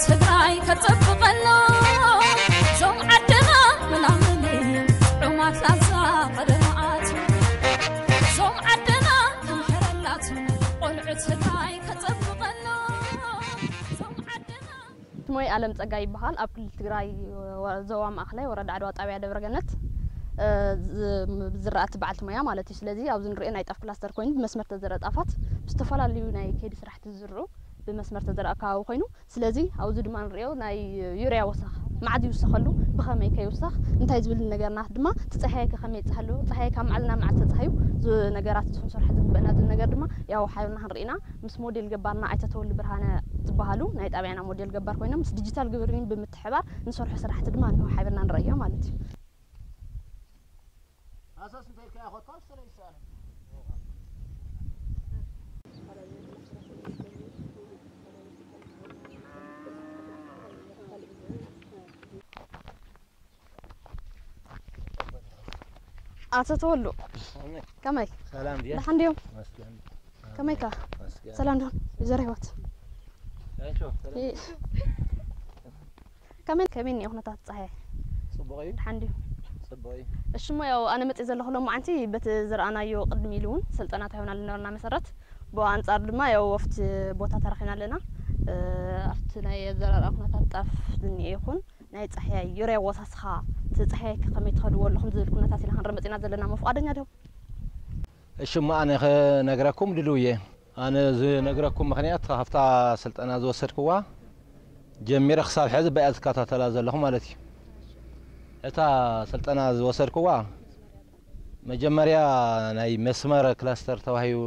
ትግራይ ከጸብቐሎ ዞም ዓድና ምናምን ጥዑማት ላዛ ቀደማዓት ዞም ዓድና ክምሕረላት ቆልዑ ትግራይ ከጸብቐሎ ዞም ዓድና። ስሞይ ኣለም ጸጋይ ይበሃል። ኣብ ክልል ትግራይ ወ-፣ ዞባ ማእኸላይ ወረዳ ዓድዋ ጣብያ ደብረገነት፣ እ፣ ዝ-፣ ዝራእቲ በዓልቲ ሞያ ማለት እዩ። ስለዚ ኣብዚ ንሪኦ ናይ ጣፍ ክላስተር ኮይኑ ብመስመር ተዘርአ ጣፋት ብዝተፈላለዩ ናይ ከይዲ ስራሕቲ ዝዝርኡ ብመስመር ተዘርአ ከባቢ ኮይኑ፣ ስለዚ ኣብዚ ድማ ንሪኦ ናይ ዩርያ ወሰኽ መዓዝ ይውሰኸሉ፣ ብኸመይ ከይውሰኽ፣ እንታይ ዝብል ነገርና ድማ እቲ ጸሃየ ከ ከመይ ይጸሃሉ፣ ጸሃየ ካብ መዓልቲ ናብ መዓልቲ ተጻህዩ ዝ-፣ ነገራት ክንሰርሖ ዝግበአና ዝብል ነገር ድማ ያው ሓቢርና ክንርኢ ኢና። ምስ ሞዴል ገባርና ኣይተ ተወልደ ብርሃነ ዝበሃሉ ናይ ጣብያና ሞዴል ገባር ኮይኖም ምስ ዲጂታል ግብርሊን ብምትሕባር ንሰርሖ ስራሕቲ ድማ ንሕው ሓቢርና ንርእዮ ማለት እዩ። ሃሰስ እንተ ኢልካዮ ኮታ ውስተ ለይሳነ። ኣቶ ተወሉ፣ ከመይ? ሰላም ድያ? ደሓን ድዮም? መስገን። ከመይ ከ? መስገን። ሰላም ዶ? ወይዘሮ ህይወት። ያንሾ፣ ሰላም። ይ-፣ ከመይ፣ ከመይ እኒኦ ኩነታት ፀሓይ? ጽቡቕ እዩ። ደሓን ድዩ? ጽቡቕ እዩ። እሺ፣ እሞ ያው ኣነ መጽእ ዘለኹ ሎማዓንቲ በቲ ዝረኣናዮ ቅድሚ ኢሉ እውን ስልጠና ተሂብና ዝነበርና መሰረት፣ ብኡ ኣንጻር ድማ ያው ኣብቲ ቦታ ተረኺብና ኣለና። እ፣ ኣብቲ ናይ ኣዘራርኣ ኩነታት ጣፍ ዝኒኤ ይኹን ናይ ጻሕያይ ዩርያ ኣወሳስኻ፣ እቲ ጻሕያይ ከ ከመይ ትኸድዎ ኣለኹም ዝብል ኩነታት ኢና ክንርኢ መጺእና ዘለና። እሞ ፍቓደኛ ዲኹም? እሺ፣ እሞ ኣነ ክነግረኩም ድልው እየ። ኣነ ዝነግረኩም ምኽንያት፣ ካብታ ስልጠና ዝወሰድክዋ ጀሚረ ክሳብ ሕዚ ብኣ ዝከታተላ ዘለኹ ማለት እዩ። እታ ስልጠና ዝወሰድክዋ፣ መጀመርያ ናይ መስመር ክላስተር ተባሂሉ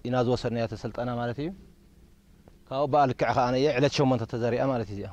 ኢና ዝወሰድናዮ እቲ ስልጠና ማለት እዩ። ካብኡ ብኣ ልክዕ ከኣ እየ ዕለት ሸሞንተ ተዘሪኣ ማለት እዩ እዚኣ።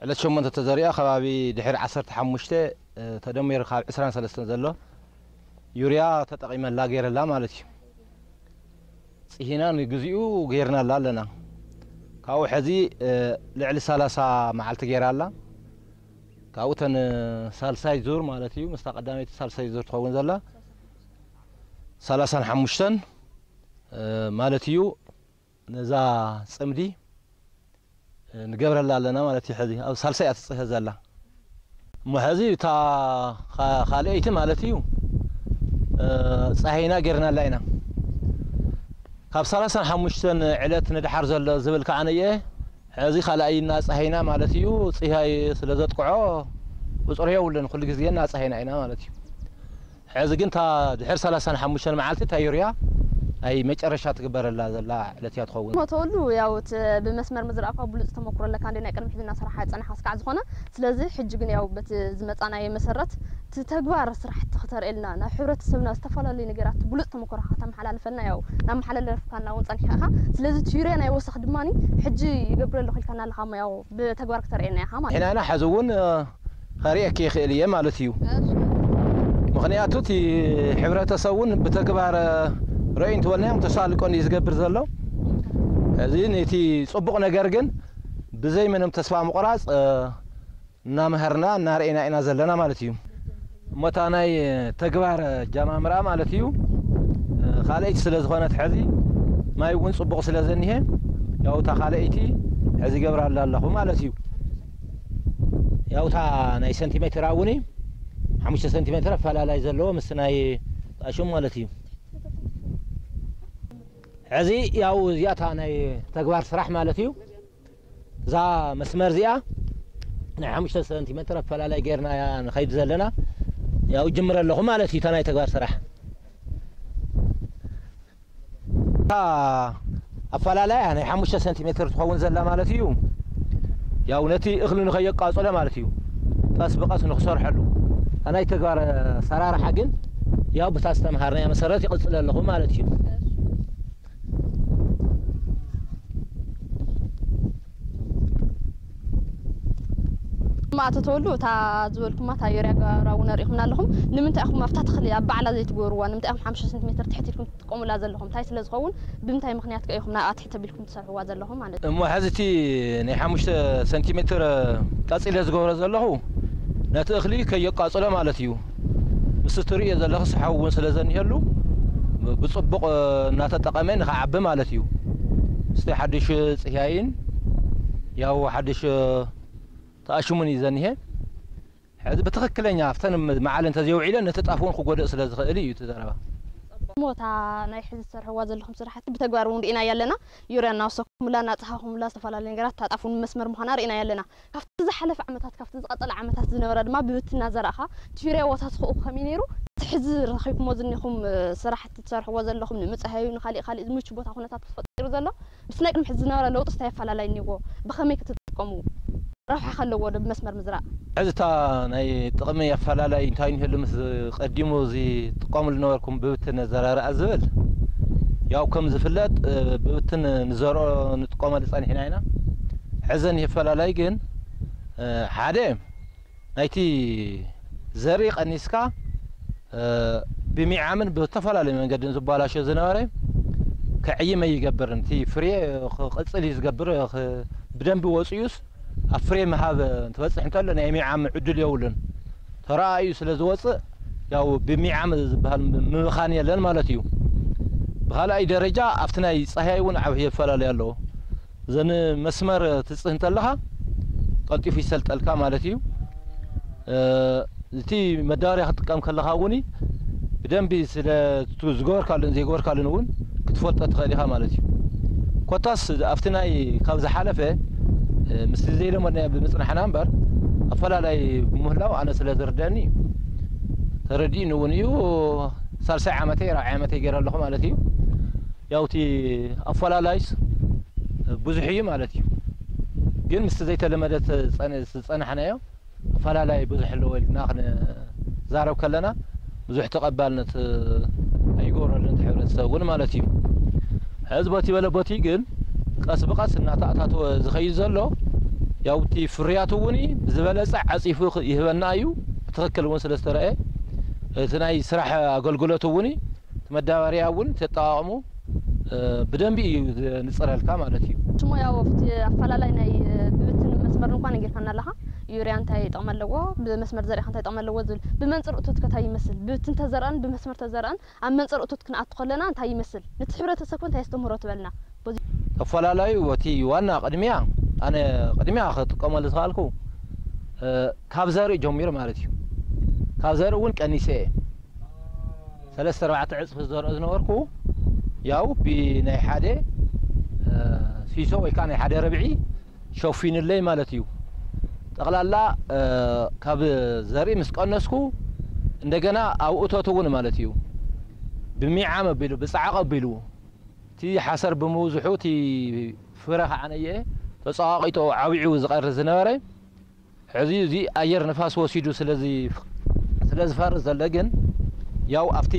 ዕለት ሸሞንተ ተዘሪኣ፣ ከባቢ ድሕሪ ዓሰርተ ሓሙሽተ፣ እ፣ ተደሚሩ ካብ ዕስራን ሰለስተን ዘሎ ዩርያ ተጠቒመላ ገይረላ ማለት እዩ። ጽሂና ንግዚኡ ገይርናላ ኣለና። ካብኡ ሕዚ፣ እ፣ ልዕሊ ሰላሳ መዓልቲ ገይራ ኣላ። ካብኡ እተን ሳልሳይ ዙር ማለት እዩ፣ ምስታ ቀዳመይቲ ሳልሳይ ዙር ትኸውን ዘላ ሰላሳን ሓሙሽተን፣ እ፣ ማለት እዩ። ነዛ ጽምዲ ንገብረላ ኣለና ማለት እዩ። ሕዚ ኣብ ሳልሳይ እያ ትጽሀ ዘላ። እሞ ሕዚ እታ ኻ-፣ ካልኣይቲ ማለት እዩ፣ እ፣ ጸሃይና ጌርናላ ኢና። ካብ ሰላሳን ሓሙሽተን ዕለት ንድሓር ዘሎ ዝብል ከዓነየ፣ ሕዚ ካልኣይና ጸሃይና ማለት እዩ፣ ጽሃይ ስለ ዘጥቅዖ ቁጽሪ የብሉን፣ ኩሉ ግዜ እናጸሃይና ኢና ማለት እዩ። ሕዚ ግን እታ ድሕሪ ሰላሳን ሓሙሽተን መዓልቲ እታ ዩርያ ናይ መጨረሻ ትግበረላ ዘላ ዕለት እያ ትኸውን። እሞ ተወሉ፣ ያው እቲ ብመስመር ምዝራእኳ ብሉጽ ተመክሮ ኣለካ፣ እንደ ናይ ቅድሚ ሕዚ እናሰራሓ ዝጸናሕካ ስካዕ ዝኾነ። ስለዚ ሕጂ ግን ያው በቲ ዝመጻናዮ መሰረት እቲ ተግባር ስራሕቲ ክተርእየልና፣ ናብ ሕብረተሰብና ዝተፈላለዩ ነገራት ብሉጽ ተመክሮኻ ከተመሓላልፈልና ያው እናመሓላለፍካና እውን ጸኒሕካ ኢኻ። ስለዚ እቲ ዩርያ ናይ ወሰኽ ድማኒ ሕጂ ይገብረሉ ኢልካና ኣለኻ እሞ ያው ብተግባር ክተርእየና ኢኻ ማለት እዩ። ሕናና ሕዚ እውን፣ እ፣ ከርእየኪ ይኽእል እየ ማለት እዩ። እሺ። ምኽንያቱ እቲ ሕብረተሰብ እውን ብተግባር፣ እ፣ ርእዩ እንተበልናዮም ተሳልጦ እዩ ዝገብር ዘሎ። እዚ ነቲ ጽቡቕ ነገር ግን ብዘይ ምንም ተስፋ ምቑራጽ፣ እ፣ እናምሃርና እናርኤና ኢና ዘለና ማለት እዩ። እሞ እታ ናይ ተግባር ጃማምራ ማለት እዩ፣ እ፣ ካልኣይቲ ስለ ዝኾነት ሕዚ ማይ እውን ጽቡቕ ስለ ዘኒሄ፣ ያው እታ ካልኣይቲ ሕዚ ገብራላ ኣለኹ ማለት እዩ። ያው እታ ናይ ሰንቲሜትር እውን ሓሙሽተ ሰንቲሜትር ኣፈላላይ ዘለዎ ምስ ናይ ጣሹም ማለት እዩ። ሕዚ ያው እዚኣ እታ ናይ ተግባር ስራሕ ማለት እዩ። እዛ መስመር እዚኣ ናይ ሓሙሽተ ሰንቲሜትር ኣፈላላይ ጌርና እያ ንኸይድ ዘለና። ያው ጅምረ ኣለኹ ማለት እዩ፣ እታ ናይ ተግባር ስራሕ። እታ ኣፈላላያ ናይ ሓሙሽተ ሰንቲሜትር ትኸውን ዘላ ማለት እዩ። ያው ነቲ እኽሊ ንኸየቃጽሎ ማለት እዩ፣ ቀስ ብቐስ ንኽሰርሐሉ። እታ ናይ ተግባር ኣሰራርሓ ግን ያው ብታ ዝተምሃርናያ መሰረት ይቕጽል ኣለኹ ማለት እዩ። እማ ኣቶ ተወሉ፣ እታ ዝበልኩማ እታ ዩርያ ጋራ እውን ኣሪእኹምና ኣለኹም። ንምንታይ ኢኹም ኣብታ ተኽሊ ኣብ ባዕላ ዘይትገብርዋ? ንምንታይ ኢኹም ሓሙሽተ ሰንቲሜትር ትሕት ኢልኩም ትጥቀሙላ ዘለኹም? እንታይ ስለ ዝኸውን፣ ብምንታይ ምኽንያት ከ ኢኹም ናብኣ ትሕት ኣቢልኩም ትሰርሕዋ ዘለኹም ማለት እዩ? እሞ ሕዚ እቲ ናይ ሓሙሽተ ሰንቲሜትር ቀጺለ ዝገብሮ ዘለኹ፣ ነቲ እኽሊ ከየቃጽሎ ማለት እዩ። ምስ እትርእዮ ዘለኽስ ሓዊ እውን ስለ ዘኒሀሉ፣ ብጽቡቕ እናተጠቐመ ንኽዓቢ ማለት እዩ። ምስቲ ሓድሽ ጽህያይን ያው ሓድሽ ተኣሽሙን እዩ ዘኒሄ። ሕዚ ብትኽክለኛ ኣብተን መዓል እንተዘይውዒለን ነቲ ጣፍ እውን ክጎድእ ስለ ዝኽእል እዩ እቲ ዘረባ። ሞታ ናይ ሕዚ ዝሰርሕዋ ዘለኹም ስራሕቲ ብተግባር እውን ርኢናያ ኣለና። ዩርያ እናወሰኹምላ እናፀሃኹምላ ዝተፈላለዩ ነገራት ታጣፍ እውን መስመር ምዃና ርኢናያ ኣለና። ካብቲ ዝሓለፈ ዓመታት ካብቲ ዝቐፀለ ዓመታት ዝነበረ ድማ ብብትና ዘራእኻ እቲ ዩርያ ዋታ ትኽኡ ከመይ ነይሩ? እቲ ሕዚ ረኺብኩሞ ዝኒኹም ስራሕቲ ትሰርሕዎ ዘለኹም ንምፅሃዩ ንካሊእ ካሊእ ምቹ ቦታ ኩነታት ተፈጢሩ ዘሎ ምስ ናይ ቅድሚ ሕዚ ዝነበረ ለውጢ እንታይ ኣፈላላይ እኒዎ? ብኸመይ ክትጥቀሙ? ረብሓ ከለዎ ዶ ብመስመር ምዝራእ? ሕዚ እታ ናይ ጥቕሚ ኣፈላላይ እንታይ ንህሉ ምስ ቀዲሙ እዚ ትጥቀሙሉ ነበርኩም ብብትን ዘራርኣ ዝብል ያው ከም ዝፍለጥ ብብትን ንዘርኦ ንጥቀመሉ ጸኒሕና ኢና። ሕዘን ይፈላላይ ግን ሓደ ናይቲ ዘርኢ ቀኒስካ ብሚዓምን ብተፈላለዩ መንገድን ዝባላሾ ዝነበረ ክዕይም ኣይገብርን። እቲ ፍሬ ክቕጽል እዩ ዝገብር፣ ብደንቢ ወጽዩስ ኣብ ፍሬ ምሃብ እንትበጽሕ እንተሎ ናይ ሚዓም ዕድል የብሉን። ተረኣዩ ስለ ዝወጽእ ያው ብሚዓም ዝበሃል ምብኻን የለን ማለት እዩ። ብኻልኣይ ደረጃ ኣብቲ ናይ ጸሃይ እውን ዓብዪ ኣፈላለዩ ኣለዎ። እዘን መስመር ትጽህ እንተለኻ ቀልጢፉ ይሰልጠልካ ማለት እዩ። እቲ መዳበርያ ክትጥቀም ከለኻ እውን ብደንቢ ስለ ዝገበርካሉን ዘይገበርካሉን እውን ክትፈልጦ ትኽእል ኢኻ ማለት እዩ። ኮታስ ኣብቲ ናይ ካብ ዝሓለፈ ምስቲ ዘይለመድናዮ ብምፅናሕና እምበር ኣፈላላይ ብምህላው ኣነ ስለ ዝርደኒ ተረዲእኒ እውን እዩ። ሳልሳይ ዓመተይ ራብዓይ ዓመተይ ገይረ ኣለኹ ማለት እዩ። ያው እቲ ኣፈላላይስ ብዙሕ እዩ ማለት እዩ። ግን ምስቲ ዘይተለመደ ዝፀናሕናዮ ኣፈላላይ ብዙሕ ኣለዎ ኢልና ክንዛረብ ከለና ብዙሕ ተቐባልነት ኣይገብረሉን እቲ ሕብረተሰብ እውን ማለት እዩ። ሕዚ በቲ በለ በቲ ግን ቀስ ብቐስ እናተኣታተወ ዝኸይድ ዘሎ ያው እቲ ፍርያቱ እውን ብዝበለፀ ዓፂፉ ይህበና እዩ። ብትኽክል እውን ስለ ዝተረኣየ እቲ ናይ ስራሕ ኣገልግሎት እውን እቲ መዳበርያ እውን ተጠቃቕሙ ብደንቢ እዩ ንፅረልካ ማለት እዩ። ሽሞ ያው ኣብቲ ኣፈላላይ ናይ ብብትን መስመር እንኳ ነጊርካና ኣለኻ። ዩርያ እንታይ ጥቕሚ ኣለዎ፣ ብመስመር ዘሪእኻ እንታይ ጥቕሚ ኣለዎ ዝብል ብመንፅር እቶት ከታይ ይመስል ብብትን ተዘርአን ብመስመር ተዘርአን ኣብ መንፅር እቶት ክንኣቱ ከለና እንታይ ይመስል፣ ነቲ ሕብረተሰብ እንታይ የስተምህሮ ትበልና። ተፈላለዩ እቲ ዋና ቅድሚያ ኣነ ቅድሚያ ክጥቀመሉ ዝኽኣልኩ ካብ ዘርኢ ጀሚሩ ማለት እዩ። ካብ ዘርኢ እውን ቀኒሰ እየ። ሰለስተ ኣርባዕተ ዕፅፊ ዝዘርኦ ዝነበርኩ ያው ብናይ ሓደ ሲሶ ወይ ከዓ ናይ ሓደ ርብዒ ሸፊኑለይ ማለት እዩ። ጠቕላላ ካብ ዘርኢ ምስ ቀነስኩ እንደገና ኣብ እቶት እውን ማለት እዩ ብሚዓም ኣቢሉ ብፃዕቕ ኣቢሉ እቲ ሓሰር ብምብዝሑ እቲ ፍረ ከዓ ነየ ተፀዋቒጡ ዓብዩ ዝቐሪ ዝነበረ ሕዚ እዚ ኣየር ንፋስ ወሲዱ ስለ ዝፈርስ ዘሎ ግን ያው ኣብቲ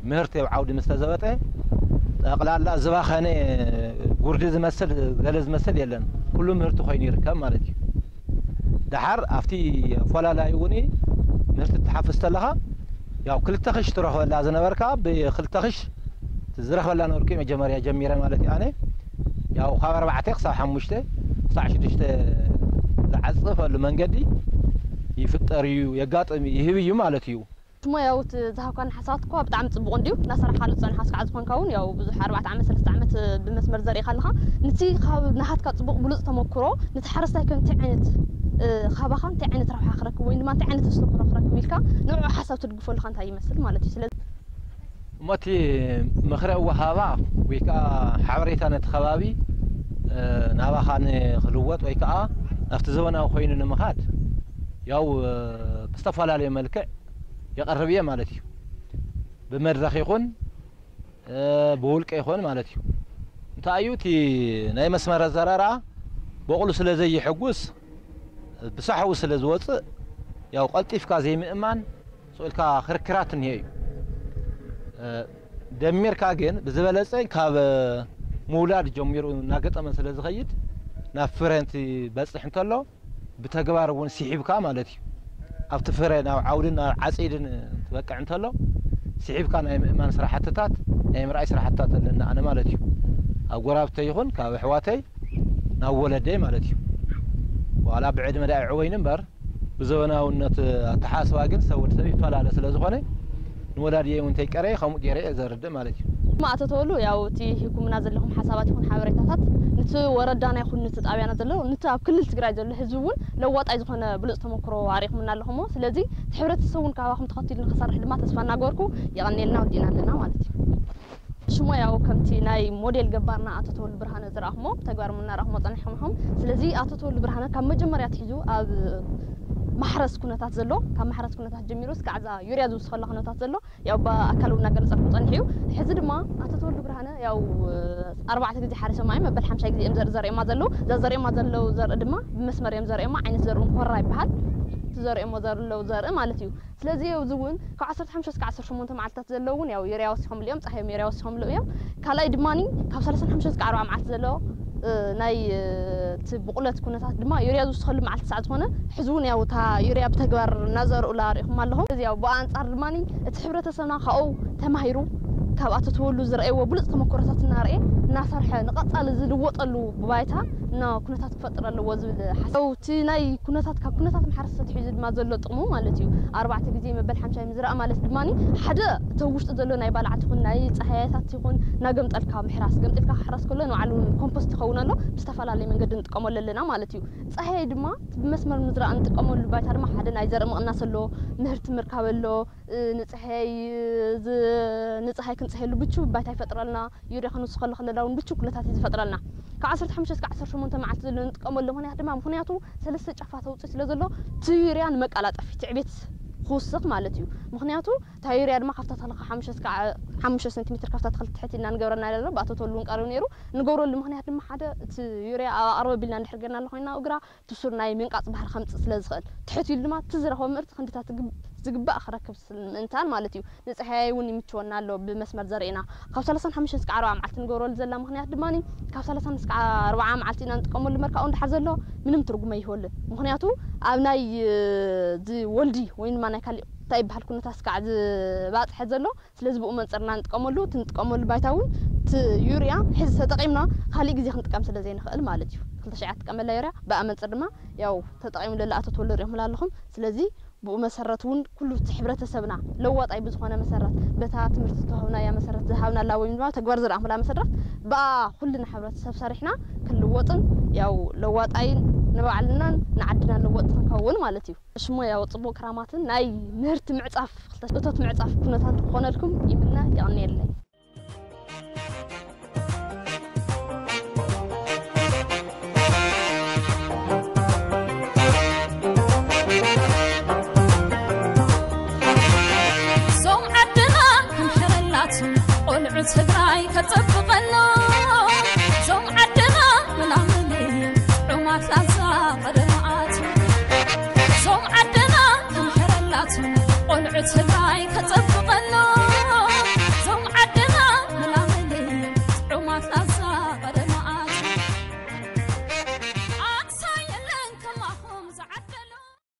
ምህርቲ ኣብ ዓውዲ ምስ ተዘበጠ ጠቕላላ ዝባኸነ ጉርዲ ዝመስል ገለ ዝመስል የለን። ኩሉ ምህርቲ ኮይኑ ይርከብ ማለት እዩ። ደሓር ኣብቲ ኣፈላላይ እውን ምህርቲ ትሓፍስ ተለኻ ያው ክልተ ክሽ ትረኽበላ ዝነበርካ ብክልተ ክሽ ዝረኽበላ ነበርኩ መጀመርያ ጀሚረ ማለት እዩ። ኣነ ያው ካብ ኣርባዕተ ክሳብ ሓሙሽተ ክሳብ ሽዱሽተ ዝዓፅፈሉ መንገዲ ይፍጠር እዩ፣ የጋጥም ይህብ እዩ ማለት እዩ። ሽሞ ያው እቲ ዝሃብካና ሓሳባት እኳ ብጣዕሚ ፅቡቕ እንድዩ እናሰራሕካሉ ዝፀንሓ ስካዕ ዝኾንካ እውን ያው ብዙሕ ኣርባዕተ ዓመት ሰለስተ ዓመት ብመስመር ዘሪእካ ኣለኻ። ንቲ ካብ ናሃትካ ፅቡቕ ብሉፅ ተመክሮ ንቲ ሓረስታይ ከ እንታይ ዓይነት ካባኻ እንታይ ዓይነት ረብሓ ክረክብ ወይ ድማ እንታይ ዓይነት ተስተምህሮ ክረክብ ኢልካ ንዑ ሓሳብ ትድግፎ ኣለኻ እንታይ ይመስል ማለት እዩ። ስለዚ እሞ እቲ ምኽረ ወሃባ ወይ ከዓ ሓበሬታ ነቲ ከባቢ ናባኻ ንክልወጥ ወይ ከዓ ናብቲ ዘበናዊ ኮይኑ ንምኻድ ያው ብዝተፈላለየ መልክዕ የቐርብ እየ ማለት እዩ። ብመድረኽ ይኹን ብውልቀ ይኹን ማለት እዩ። እንታይ እዩ እቲ ናይ መስመር ኣዘራርኣ በቑሉ ስለ ዘይሕጉስ ብሳሕዊ ስለ ዝወፅእ ያው ቀልጢፍካ ዘይምእማን ስቕ ኢልካ ክርክራት እኒሀ እዩ። ደሚርካ ግን ብዝበለፀ ካብ ምውላድ ጀሚሩ እናገጠመ ስለ ዝኸይድ ናብ ፍረ እንትበፅሕ እንተሎ ብተግባር እውን ስሒብካ ማለት እዩ ኣብቲ ፍረ ናብ ዓውድን ናብ ዓፂድን ትበቅዕ እንተሎ ስሒብካ ናይ ምእማን ስራሕትታት ናይ ምርኣይ ስራሕትታት ኣለና ኣነ ማለት እዩ። ኣብ ጎራብተይ ይኹን ካብ ኣሕዋተይ ናብ ወለደይ ማለት እዩ። ዋላ ብዕድመ ዳ ይዕወይኒ እምበር ብዘበናውነት ኣተሓስባ ግን ሰብ ወዲ ሰብ ይፈላለ ስለ ዝኾነ ንወላድየይ እውን እንተይቀረየ ከምኡ ገይረ እየ ዘርድእ ማለት እዩ። እማ ኣቶ ተወሉ፣ ያው እቲ ሂኩምና ዘለኹም ሓሳባት ይኹን ሓበሬታታት ንቲ ወረዳና ይኹን ንቲ ጣብያና ዘሎ ንቲ ኣብ ክልል ትግራይ ዘሎ ህዝቢ እውን ለዋጣይ ዝኾነ ብሉፅ ተመክሮ ኣሪኹምና ኣለኹሞ። ስለዚ እቲ ሕብረተሰብ እውን ካባኹም ተኸቲሉ ንክሰርሕ ድማ ተስፋ እናገበርኩ የቐንየልና፣ ወዲእና ኣለና ማለት እዩ። ሽሞ ያው ከምቲ ናይ ሞዴል ገባርና ኣቶ ተወሉ ብርሃነ ዝረኣኹሞ ተግባር እናረኣኹሞ ጸኒሕኩም ኢኹም። ስለዚ ኣቶ ተወሉ ብርሃነ ካብ መጀመርያ ኣትሒዙ ኣብ ማሕረስ ኩነታት ዘሎ፣ ካብ ማሕረስ ኩነታት ጀሚሩ እስካዕ እዛ ዩርያ ዝውስኸላ ኩነታት ዘሎ ያው ብኣካል እውን እናገለጸልኩም ጸኒሑ እዩ። ሕዚ ድማ ኣቶ ተወሉ ብርሃነ ያው ኣርባዕተ ግዜ ሓሪሶማ እዮም፣ መበል ሓምሻይ ግዜ እዮም ዘርኢ ዘርእማ ዘለዉ። እዛ ዘርእማ ዘለዉ ዘርኢ ድማ ብመስመር እዮም ዘርእማ፣ ዓይነት ዘርኡ ኮራ ይበሃል። እቲ ዘርእሞ ዘለዉ ዘርኢ ማለት እዩ። ስለዚ ኣብዚ እውን ካብ ዓሰርተ ሓሙሽተ እስካዕ ዓሰርተ ሸሞንተ መዓልታት ዘለዉ እውን ያው ዩርያ ወሲኾምሉ እዮም፣ ጻህዮም ዩርያ ወሲኾምሉ እዮም። ካልኣይ ድማ ካብ ሰላሳን ሓሙሽተ እስካዕ ኣርብዓ መዓልቲ ዘሎ ናይ እቲ ብቑለት ኩነታት ድማ ዩርያ ዝውስኸሉ መዓልቲ ሳዕ ዝኾነ ሕዚ እውን ያው እታ ዩርያ ብተግባር እናዘርኡላ ርኢኹም ኣለኹም። እዚ ያው ብኣንጻር ድማ እቲ ሕብረተሰብና ካብኡ ተማሂሩ ካብ ኣቶ ተወሉ ዝረኣይዎ ብሉፅ ተመክሮታት እናረኤ እናሰርሐ ንቐፃሊ ዝልወጠሉ ባይታ እና ኩነታት ክፈጥር ኣለዎ ዝብል ሓሳብ እቲ ናይ ኩነታት ካብ ኩነታት ማሕረስ ተትሒዙ ድማ ዘሎ ጥቕሙ ማለት እዩ። ኣርባዕተ ግዜ መበል ሓምሻይ ምዝራእ ማለት ድማ ሓደ እቲ ኣብ ውሽጢ ዘሎ ናይ ባልዓት ይኹን ናይ ፀሃያታት ይኹን እናገምጠልካ ምሕራስ፣ ገምጢልካ ክሕረስ ከሎ ንባዕሉ ኮምፖስት ይኸውን ኣሎ። ብዝተፈላለየ መንገዲ ንጥቀመሉ ኣለና ማለት እዩ። ፀሃይ ድማ ብመስመር ምዝራእ እንጥቀመሉ ባይታ ድማ ሓደ ናይ ዘርኢ ምቕናስ ኣሎ፣ ምህርቲ ምርካብ ኣሎ፣ ንፀሃይ ንፀሃይ ክንፀሀሉ ብቹ ባይታ ይፈጥረልና። ዩርያ ክንውስኸሉ ከለና እውን ብቹ ኩነታት እዩ ዝፈጥረልና። ካብ ዓሰርተ ሓሙሽተ እስካዕ ዓሰርተ ሸሞንተ መዓልቲ ዘሎ ንጥቀመሉ ምኽንያት ድማ ምኽንያቱ ሰለስተ ጫፋት ኣውፅኡ ስለ ዘሎ እቲ ዩርያ ንመቀላጠፊ ትዕቤት ክውስኽ ማለት እዩ። ምኽንያቱ እታ ዩርያ ድማ ካብታ ተኽሊ ካብ ሓሙሽተ እስካዕ ሓሙሽተ ሰንቲሜትር ካብታ ተኽሊ ትሕት ኢልና ንገብረና ኣለና። ብኣቶ ተወሉ እውን ቀሪቡ ነይሩ። ንገብረሉ ምኽንያት ድማ ሓደ እቲ ዩርያ ኣብ ኣቕርብ ኣቢልና እንድሕር ጌርናሉ ኮይንና እግራ እቲ ሱር ናይ ምንቃፅ ባህሪ ከምፅእ ስለ ዝኽእል ትሕት ኢሉ ድማ እቲ ዝረኸቦ ምህርቲ ክንድታት ዝግባእ ክረክብ ምእንታን ማለት እዩ። ንፀሃያይ እውን ይምችወና ኣሎ ብመስመር ዘርእና ካብ ሰላሳን ሓሙሽተ እስካዕ ኣርብዓ መዓልቲ ንገብረሉ ዘለና ምኽንያት ድማ ካብ ሰላሳን እስካዕ ኣርብዓ መዓልቲ ኢና ንጥቀመሉ እምበር ካብኡ እንድሓር ዘሎ ምንም ትርጉም ኣይህበሉን። ምኽንያቱ ኣብ ናይ እዚ ወልዲ ወይ ድማ ናይ ካሊእ እንታይ ይበሃል ኩነታት እስካዕ ዝባፅሐ ዘሎ ስለዚ ብኡ መንፅርና ንጥቀመሉ እቲ ንጥቀመሉ ባይታ እውን እቲ ዩርያ ሕዚ ተጠቂምና ካሊእ ግዜ ክንጥቀም ስለ ዘይንኽእል ማለት እዩ። ክልተ ሽዓ ትጥቀመላ ዩርያ ብኣ መንፅር ድማ ያው ተጠቂሙ ለለ ኣቶ ተወልደ ሪኢኹምላ ኣለኹም። ስለዚ ብኡ መሰረት እውን ኩሉ እቲ ሕብረተሰብና ለዋጣይ ብዝኾነ መሰረት በታ ትምህርቲ ዝተዋህብናያ መሰረት ዝሃብናላ ወይ ድማ ተግባር ዝረኣኹምላ መሰረት ብኣ ኩልና ሕብረተሰብ ሰሪሕና ክንልወጥን ያው ለዋጣይን ንባዕልናን ንዓድና ለወጥ ክንከውን ማለት እዩ። ሽሞ ያው ጽቡቕ ክራማትን ናይ ምህርቲ ምዕጻፍ እቶት ምዕጻፍ ኩነታት ክኾነልኩም ይምነ። የቐንየለይ። ዞም ዓድና ክምሕረላትን ቆልዑ ትግራይ ከጸብ